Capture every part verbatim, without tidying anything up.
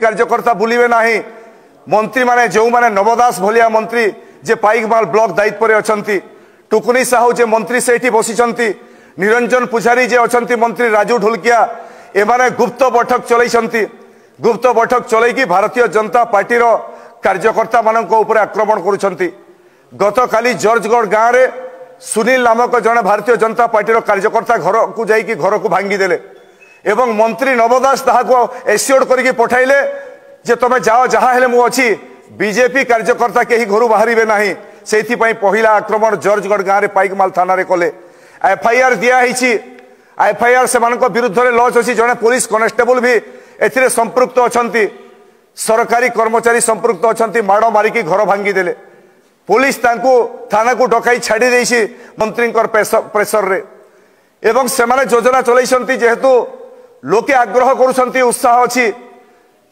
କାର୍ଯ୍ୟକର୍ତ୍ତା ବୁଲିବେ ନାହିଁ। ମନ୍ତ୍ରୀମାନେ ଯେଉଁମାନେ ନବ ଦାସ ଭଳିଆ ମନ୍ତ୍ରୀ ଯେ ପାଇକମାଲ ବ୍ଲକ ଦାୟିତ୍ୱରେ ଅଛନ୍ତି, ଟୁକୁନି ସାହୁ ଯେ ମନ୍ତ୍ରୀ ସେଇଠି ବସିଛନ୍ତି, ନିରଞ୍ଜନ ପୂଜାରୀ ଯେ ଅଛନ୍ତି ମନ୍ତ୍ରୀ, ରାଜୁ ଢୋଲକିଆ, ଏମାନେ ଗୁପ୍ତ ବୈଠକ ଚଲେଇଛନ୍ତି। ଗୁପ୍ତ ବୈଠକ ଚଲେଇକି ଭାରତୀୟ ଜନତା ପାର୍ଟିର କାର୍ଯ୍ୟକର୍ତ୍ତାମାନଙ୍କ ଉପରେ ଆକ୍ରମଣ କରୁଛନ୍ତି। ଗତକାଲି ଜର୍ଜଗଡ଼ ଗାଁରେ ସୁନୀଲ ନାମକ ଜଣେ ଭାରତୀୟ ଜନତା ପାର୍ଟିର କାର୍ଯ୍ୟକର୍ତ୍ତା ଘରକୁ ଯାଇକି ଘରକୁ ଭାଙ୍ଗିଦେଲେ ଏବଂ ମନ୍ତ୍ରୀ ନବ ଦାସ ତାହାକୁ ଏସିଓର୍ଡ କରିକି ପଠାଇଲେ ଯେ ତମେ ଯାଅ, ଯାହା ହେଲେ ମୁଁ ଅଛି, ବିଜେପି କାର୍ଯ୍ୟକର୍ତ୍ତା କେହି ଘରୁ ବାହାରିବେ ନାହିଁ। ସେଇଥିପାଇଁ ପହିଲା ଆକ୍ରମଣ ଜର୍ଜଗଡ଼ ଗାଁରେ ପାଇକମାଲ ଥାନାରେ କଲେ। ଏଫଆଇଆର ଦିଆହେଇଛି, ଏଫଆଇଆର ସେମାନଙ୍କ ବିରୁଦ୍ଧରେ ଲଞ୍ଚ ଅଛି। ଜଣେ ପୋଲିସ କନେଷ୍ଟେବଲ ବି ଏଥିରେ ସମ୍ପୃକ୍ତ ଅଛନ୍ତି, ସରକାରୀ କର୍ମଚାରୀ ସମ୍ପୃକ୍ତ ଅଛନ୍ତି। ମାଡ଼ ମାରିକି ଘର ଭାଙ୍ଗିଦେଲେ। ପୋଲିସ ତାଙ୍କୁ ଥାନାକୁ ଡକାଇ ଛାଡ଼ି ଦେଇଛି ମନ୍ତ୍ରୀଙ୍କର ପ୍ରେସରରେ। ଏବଂ ସେମାନେ ଯୋଜନା ଚଲେଇଛନ୍ତି, ଯେହେତୁ ଲୋକେ ଆଗ୍ରହ କରୁଛନ୍ତି, ଉତ୍ସାହ ଅଛି,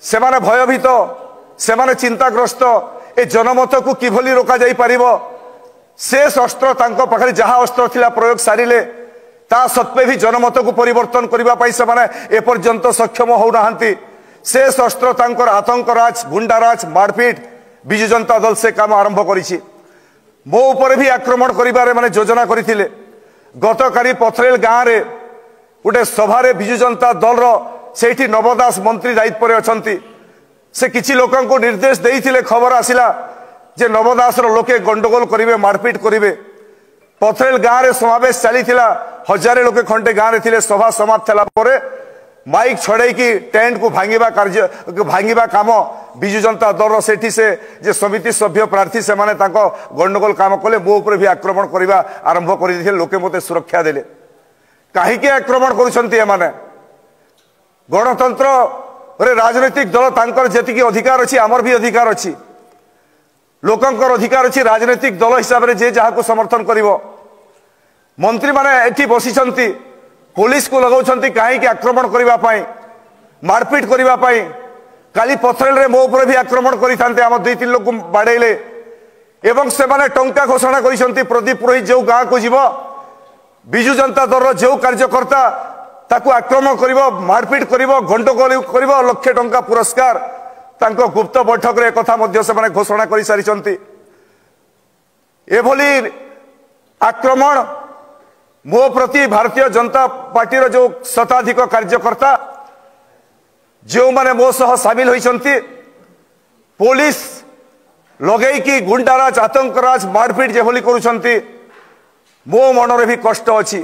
ସେମାନେ ଭୟଭୀତ, ସେମାନେ ଚିନ୍ତାଗ୍ରସ୍ତ, ଏ ଜନମତକୁ କିଭଳି ରୋକାଯାଇ ପାରିବ। ସେ ଅସ୍ତ୍ର ତାଙ୍କ ପାଖରେ ଯାହା ଅସ୍ତ୍ର ଥିଲା ପ୍ରୟୋଗ ସାରିଲେ, ତା ସତ୍ତ୍ୱେ ବି ଜନମତକୁ ପରିବର୍ତ୍ତନ କରିବା ପାଇଁ ସେମାନେ ଏପର୍ଯ୍ୟନ୍ତ ସକ୍ଷମ ହେଉନାହାନ୍ତି। ସେ ଅସ୍ତ୍ର ତାଙ୍କର ଆତଙ୍କରାଜ, ଗୁଣ୍ଡାରାଜ, ମାରପିଟ, ବିଜୁ ଜନତା ଦଳ ସେ କାମ ଆରମ୍ଭ କରିଛି। ମୋ ଉପରେ ବି ଆକ୍ରମଣ କରିବାରେ ମାନେ ଯୋଜନା କରିଥିଲେ। ଗତକାଲି ପଥରେଲ ଗାଁରେ ଗୋଟେ ସଭାରେ ବିଜୁ ଜନତା ଦଳର ସେଇଠି ନବ ଦାସ ମନ୍ତ୍ରୀ ଦାୟିତ୍ୱରେ ଅଛନ୍ତି, ସେ କିଛି ଲୋକଙ୍କୁ ନିର୍ଦ୍ଦେଶ ଦେଇଥିଲେ। ଖବର ଆସିଲା ଯେ ନବ ଦାସର ଲୋକେ ଗଣ୍ଡଗୋଳ କରିବେ, ମାରପିଟ କରିବେ। ପଥରେଲ ଗାଁରେ ସମାବେଶ ଚାଲିଥିଲା, ହଜାରେ ଲୋକେ ଖଣ୍ଡେ ଗାଁରେ ଥିଲେ। ସଭା ସମାପ୍ତ ହେଲା ପରେ ମାଇକ୍ ଛଡ଼େଇକି ଟେଣ୍ଟକୁ ଭାଙ୍ଗିବା କାର୍ଯ୍ୟ, ଭାଙ୍ଗିବା କାମ ବିଜୁ ଜନତା ଦଳର ସେଠି ସେ ଯେ ସମିତି ସଭ୍ୟ ପ୍ରାର୍ଥୀ ସେମାନେ ତାଙ୍କ ଗଣ୍ଡଗୋଳ କାମ କଲେ। ମୋ ଉପରେ ବି ଆକ୍ରମଣ କରିବା ଆରମ୍ଭ କରିଦେଇଥିଲେ, ଲୋକେ ମୋତେ ସୁରକ୍ଷା ଦେଲେ। କାହିଁକି ଆକ୍ରମଣ କରୁଛନ୍ତି ଏମାନେ? ଗଣତନ୍ତ୍ରରେ ରାଜନୈତିକ ଦଳ ତାଙ୍କର ଯେତିକି ଅଧିକାର ଅଛି, ଆମର ବି ଅଧିକାର ଅଛି। ଲୋକଙ୍କର ଅଧିକାର ଅଛି ରାଜନୈତିକ ଦଳ ହିସାବରେ ଯେ ଯାହାକୁ ସମର୍ଥନ କରିବ। ମନ୍ତ୍ରୀମାନେ ଏଠି ବସିଛନ୍ତି, ପୋଲିସକୁ ଲଗାଉଛନ୍ତି କାହିଁକି? ଆକ୍ରମଣ କରିବା ପାଇଁ, ମାରପିଟ କରିବା ପାଇଁ। କାଲି ପଥରେଲରେ ମୋ ଉପରେ ବି ଆକ୍ରମଣ କରିଥାନ୍ତେ, ଆମ ଦୁଇ ତିନି ଲୋକକୁ ବାଡ଼େଇଲେ। ଏବଂ ସେମାନେ ଟଙ୍କା ଘୋଷଣା କରିଛନ୍ତି, ପ୍ରଦୀପ ପୁରୋହିତ ଯେଉଁ ଗାଁକୁ ଯିବ, ବିଜୁ ଜନତା ଦଳର ଯେଉଁ କାର୍ଯ୍ୟକର୍ତ୍ତା ତାକୁ ଆକ୍ରମଣ କରିବ, ମାରପିଟ କରିବ, ଗଣ୍ଡଗୋଳ କରିବ, ଲକ୍ଷେ ଟଙ୍କା ପୁରସ୍କାର। ତାଙ୍କ ଗୁପ୍ତ ବୈଠକରେ ଏକଥା ମଧ୍ୟ ସେମାନେ ଘୋଷଣା କରିସାରିଛନ୍ତି। ଏଭଳି ଆକ୍ରମଣ ମୋ ପ୍ରତି ଭାରତୀୟ ଜନତା ପାର୍ଟିର ଯେଉଁ ଶତାଧିକ କାର୍ଯ୍ୟକର୍ତ୍ତା ଯେଉଁମାନେ ମୋ ସହ ସାମିଲ ହୋଇଛନ୍ତି, ପୋଲିସ ଲଗେଇକି ଗୁଣ୍ଡାରାଜ, ଆତଙ୍କରାଜ, ମାରପିଟ ଯେଭଳି କରୁଛନ୍ତି, ମୋ ମନରେ ବି କଷ୍ଟ ଅଛି।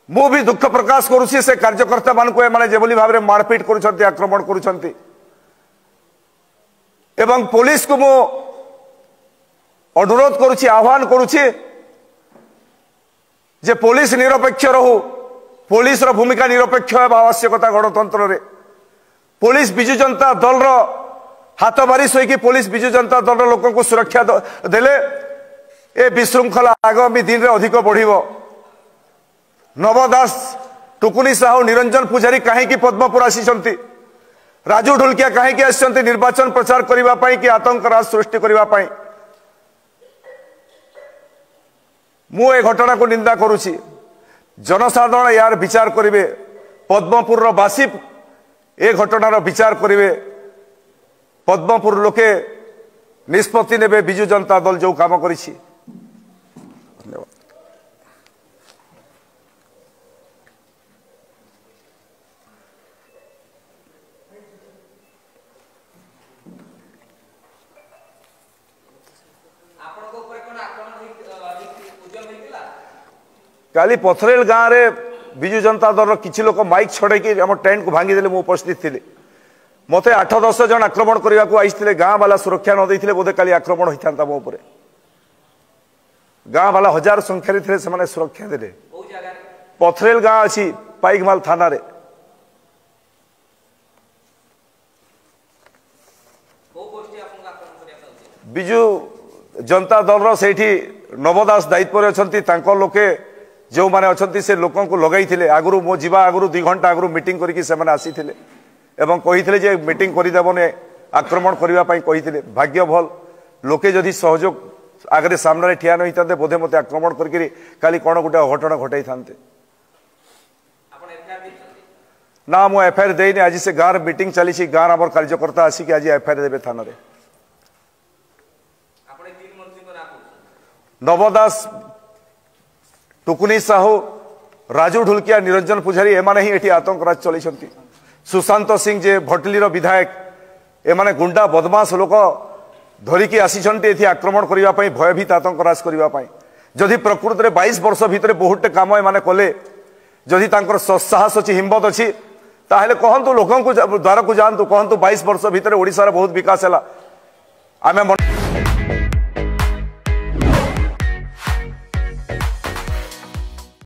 ମୁଁ ବି ଦୁଃଖ ପ୍ରକାଶ କରୁଛି ସେ କାର୍ଯ୍ୟକର୍ତ୍ତାମାନଙ୍କୁ ଏମାନେ ଯେଭଳି ଭାବରେ ମାରପିଟ କରୁଛନ୍ତି, ଆକ୍ରମଣ କରୁଛନ୍ତି। ଏବଂ ପୋଲିସକୁ ମୁଁ ଅନୁରୋଧ କରୁଛି, ଆହ୍ୱାନ କରୁଛି ଯେ ପୋଲିସ ନିରପେକ୍ଷ ରହୁ। ପୋଲିସର ଭୂମିକା ନିରପେକ୍ଷ ହେବା ଆବଶ୍ୟକତା ଗଣତନ୍ତ୍ରରେ। ପୋଲିସ ବିଜୁ ଜନତା ଦଳର ହାତ ବାରିଶ ହୋଇକି ପୋଲିସ ବିଜୁ ଜନତା ଦଳର ଲୋକଙ୍କୁ ସୁରକ୍ଷା ଦେଲେ ଏ ବିଶୃଙ୍ଖଳା ଆଗାମୀ ଦିନରେ ଅଧିକ ବଢ଼ିବ। ନବ ଦାସ, ଟୁକୁନି ସାହୁ, ନିରଞ୍ଜନ ପୂଜାରୀ କାହିଁକି ପଦ୍ମପୁର ଆସିଛନ୍ତି? ରାଜୁ ଢୋଲକିଆ କାହିଁକି ଆସିଛନ୍ତି? ନିର୍ବାଚନ ପ୍ରଚାର କରିବା ପାଇଁ କି ଆତଙ୍କରାଜ ସୃଷ୍ଟି କରିବା ପାଇଁ? ମୁଁ ଏ ଘଟଣାକୁ ନିନ୍ଦା କରୁଛି। ଜନସାଧାରଣ ଏହାର ବିଚାର କରିବେ, ପଦ୍ମପୁରର ବାସୀ ଏ ଘଟଣାର ବିଚାର କରିବେ, ପଦ୍ମପୁର ଲୋକେ ନିଷ୍ପତ୍ତି ନେବେ ବିଜୁ ଜନତା ଦଳ ଯେଉଁ କାମ କରିଛି। ଧନ୍ୟବାଦ। ଆପଣଙ୍କ ଉପରେ କଣ ଆକ୍ରମଣ ଉଦ୍ୟମ ହେଇଥିଲା? କାଲି ପଥରେଲ ଗାଁରେ ବିଜୁ ଜନତା ଦଳର କିଛି ଲୋକ ମାଇକ୍ ଛଡ଼େଇକି ଆମ ଟେଣ୍ଟକୁ ଭାଙ୍ଗିଦେଲେ। ମୁଁ ଉପସ୍ଥିତ ଥିଲି। ମୋତେ ଆଠ ଦଶ ଜଣ ଆକ୍ରମଣ କରିବାକୁ ଆସିଥିଲେ। ଗାଁ ବାଲା ସୁରକ୍ଷା ନ ଦେଇଥିଲେ ବୋଧେ କାଲି ଆକ୍ରମଣ ହୋଇଥାନ୍ତା ମୋ ଉପରେ। ଗାଁ ବାଲା ହଜାର ସଂଖ୍ୟାରେ ଥିଲେ, ସେମାନେ ସୁରକ୍ଷା ଦେଲେ। କୋଉ ଜାଗାରେ? ପଥରେଲ ଗାଁ ଅଛି ପାଇକମାଲ ଥାନାରେ। କୋଉ ଗୋଷ୍ଠୀ ଆପଣଙ୍କୁ ଆକ୍ରମଣ କରିବା ପାଇଁ ଉଦ୍ୟମ? ବିଜୁ ଜନତା ଦଳର ସେଇଠି ନବ ଦାସ ଦାୟିତ୍ୱରେ ଅଛନ୍ତି, ତାଙ୍କ ଲୋକେ ଯେଉଁମାନେ ଅଛନ୍ତି ସେ ଲୋକଙ୍କୁ ଲଗାଇଥିଲେ। ଆଗରୁ ମୋ ଯିବା ଆଗରୁ ଦୁଇ ଘଣ୍ଟା ଆଗରୁ ମିଟିଂ କରିକି ସେମାନେ ଆସିଥିଲେ ଏବଂ କହିଥିଲେ ଯେ ମିଟିଂ କରିଦେବନି, ଆକ୍ରମଣ କରିବା ପାଇଁ କହିଥିଲେ। ଭାଗ୍ୟ ଭଲ, ଲୋକେ ଯଦି ସହଯୋଗ ଆଗରେ ସାମ୍ନାରେ ଠିଆ ନ ହେଇଥାନ୍ତେ ବୋଧେ ମୋତେ ଆକ୍ରମଣ କରିକିରି କାଲି କ'ଣ ଗୋଟେ ଅଘଟଣ ଘଟାଇଥାନ୍ତେ। ଆପଣ ଏଫଆଇଆର ଦେଇଛନ୍ତି? ନା, ମୁଁ ଏଫଆଇଆର ଦେଇନି। ଆଜି ସେ ଗାଁର ମିଟିଂ ଚାଲିଛି, ଗାଁର ଆମର କାର୍ଯ୍ୟକର୍ତ୍ତା ଆସିକି ଆଜି ଏଫଆଇଆର ଦେବେ ଥାନାରେ। ଆପଣ ଏ ତିନି ମନ୍ତ୍ରୀଙ୍କ ନାଁ କହୁଛନ୍ତି? ନବ ଦାସ, ଟୁକୁନି ସାହୁ, ରାଜୁ ଢୁଲକିଆ, ନିରଞ୍ଜନ ପୂଜାରୀ, ଏମାନେ ହିଁ ଏଠି ଆତଙ୍କରାଜ ଚଲେଇଛନ୍ତି। ସୁଶାନ୍ତ ସିଂ ଯେ ଭଟଲିର ବିଧାୟକ, ଏମାନେ ଗୁଣ୍ଡା ବଦମାସ ଲୋକ ଧରିକି ଆସିଛନ୍ତି ଏଠି ଆକ୍ରମଣ କରିବା ପାଇଁ, ଭୟଭୀତ ଆତଙ୍କରାଜ କରିବା ପାଇଁ। ଯଦି ପ୍ରକୃତରେ ବାଇଶ ବର୍ଷ ଭିତରେ ବହୁତଟେ କାମ ଏମାନେ କଲେ, ଯଦି ତାଙ୍କର ସାହସ ଅଛି, ହିମ୍ମତ ଅଛି, ତାହେଲେ କହନ୍ତୁ, ଲୋକଙ୍କୁ ଦ୍ୱାରକୁ ଯାଆନ୍ତୁ, କହନ୍ତୁ ବାଇଶ ବର୍ଷ ଭିତରେ ଓଡ଼ିଶାର ବହୁତ ବିକାଶ ହେଲା। ଆମେ